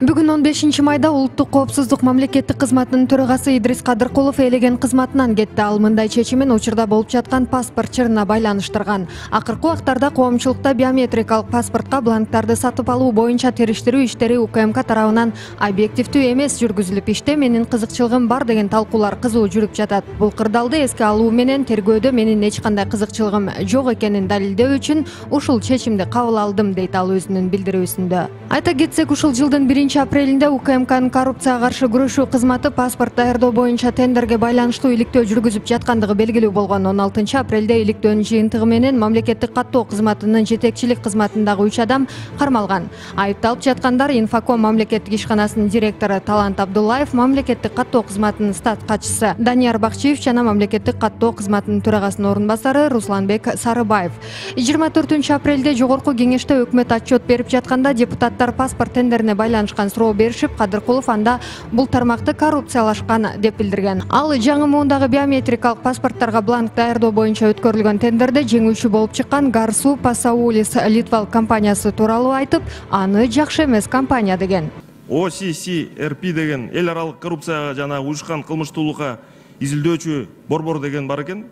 Бүгүн 15 майда Улуттук коопсуздук мамлекеттик кызматынын төрагасы Идрис Кадыркулов элеген кызматынан кетти. Ал мындай чечимин учурда болуп жаткан паспорт чырына байланыштырган. Акыркы убактарда коомчулукта биометрикалык паспортко бланктарды сатып алуу боюнча териштирүү иштери УКМК тарабынан объективдүү эмес жүргүзүлүп, иште менин кызыкчылыгым бар деген талкуулар кызуу жүрүп жатат. Бул кырдаалды эске алуу менен тергөөдө менин эч кандай кызыкчылыгым жок экенин далилдөө үчүн ушул чечимди кабыл алдым, дейт ал өзүнүн билдирүүсүндө. Айта кетсек, ушул жылдын 1-апрелинде УКМКнын коррупцияга каршы күрөшүү кызматы паспорт даярдоо боюнча тендерге байланыштуу иликтөө жүргүзүп жаткандыгы белгилүү болгон. 16-апрелде иликтөөнүн жыйынтыгы менен мамлекеттик каттоо кызматынын жетекчилик кызматындагы 3 адам кармалган. Айыпталып жаткандар Инфоком мамлекеттик ишканасынын директору Талант Абдуллаев, мамлекеттик каттоо кызматынын штат катчысы Данияр Бакчиев жана мамлекеттик каттоо кызматынын төрагасынын орун басары Русланбек Сарыбаев. 24-апрелде жогорку кеңеште өкмөт отчет берип жатканда депутаттар паспорт тендерине байланышкан суроо беришип, Кадыркулов анда бул тармакты коррупциялашкан деп билдирген. Ал жаңы муундагы биометрикалык паспорттарга бланк даярдоо боюнча өткөрүлгөн тендерде жеңүүчү болуп чыккан Гарсу Пасаулис Литвал компаниясы тууралуу айтып, аны жакшы эмес компания деген. OCCRP деген эл аралык коррупцияга жана уюшкан кылмыштуулукка изилдөөчү борбор деген бар экен.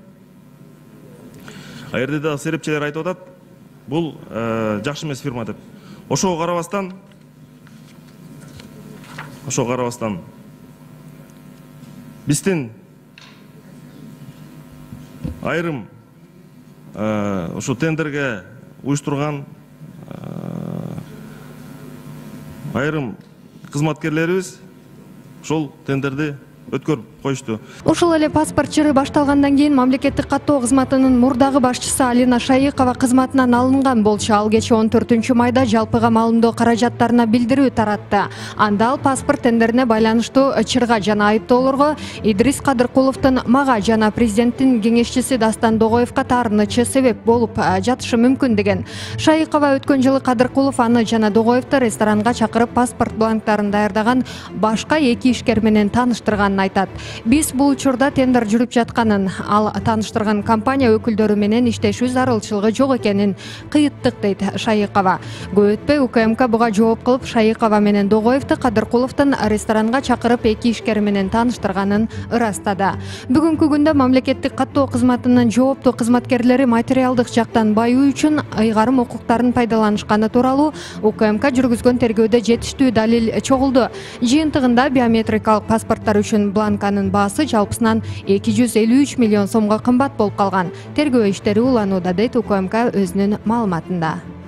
Жерде да серепчилер айтып атат, бул жакшы эмес фирма деп. Ошого карабастан биздин айрым ушу тендерге уюштурган айрым кызматкерлерибиз ошол тендерди өткөрүп коюшту. Ошол эле паспорт чыры башталгандан кийин мамлекеттик каттоо кызматынын мурдагы башчысы Алина Шайыкова кызматынан алынган болчу. Ал кечээ 14 майда жалпыга маалымдоо каражаттарына билдирүү таратты. Анда ал паспорт тендерине байланыштуу чырга жана айыптоолорго Идрис Кадыркуловдун мага жана президенттин кеңешчиси Дастан Догоевго таарынычы себеп болуп жатышы мүмкүн деген. Шайыкова өткөн жылы Кадыркулов аны жана Догоевду ресторанга чакырып паспорт бланктарын даярдаган башка 2 ишкер менен тааныштырганын айтат. Биз бул учурда тендер жүрүп жатканын, ал тааныштырган компания өкүлдөрү менен иштешүү зарылчылыгы жок экенин кыйыттык, дейт Шайыкова. Көп өтпөй УКМК буга жооп кылып, Шайыкова менен Догоевду Кадыркуловдун ресторанга чакырып 2 ишкер менен тааныштырганын ырастады. Бүгүнкү күндө мамлекеттик каттоо кызматынын жооптуу кызматкерлери материалдык жактан баюу үчүн ыйгарым укуктарын пайдаланышканы тууралуу УКМК жүргүзгөн тергөөдө жетиштүү далил чогулду. Жыйынтыгында биометрикалык паспорттор үчүн бланканын баасы жалпысынан 253 миллион сомго кымбат болуп калган. Тергөө иштери уланууда, дейт УКМК өзүнүн маалыматында.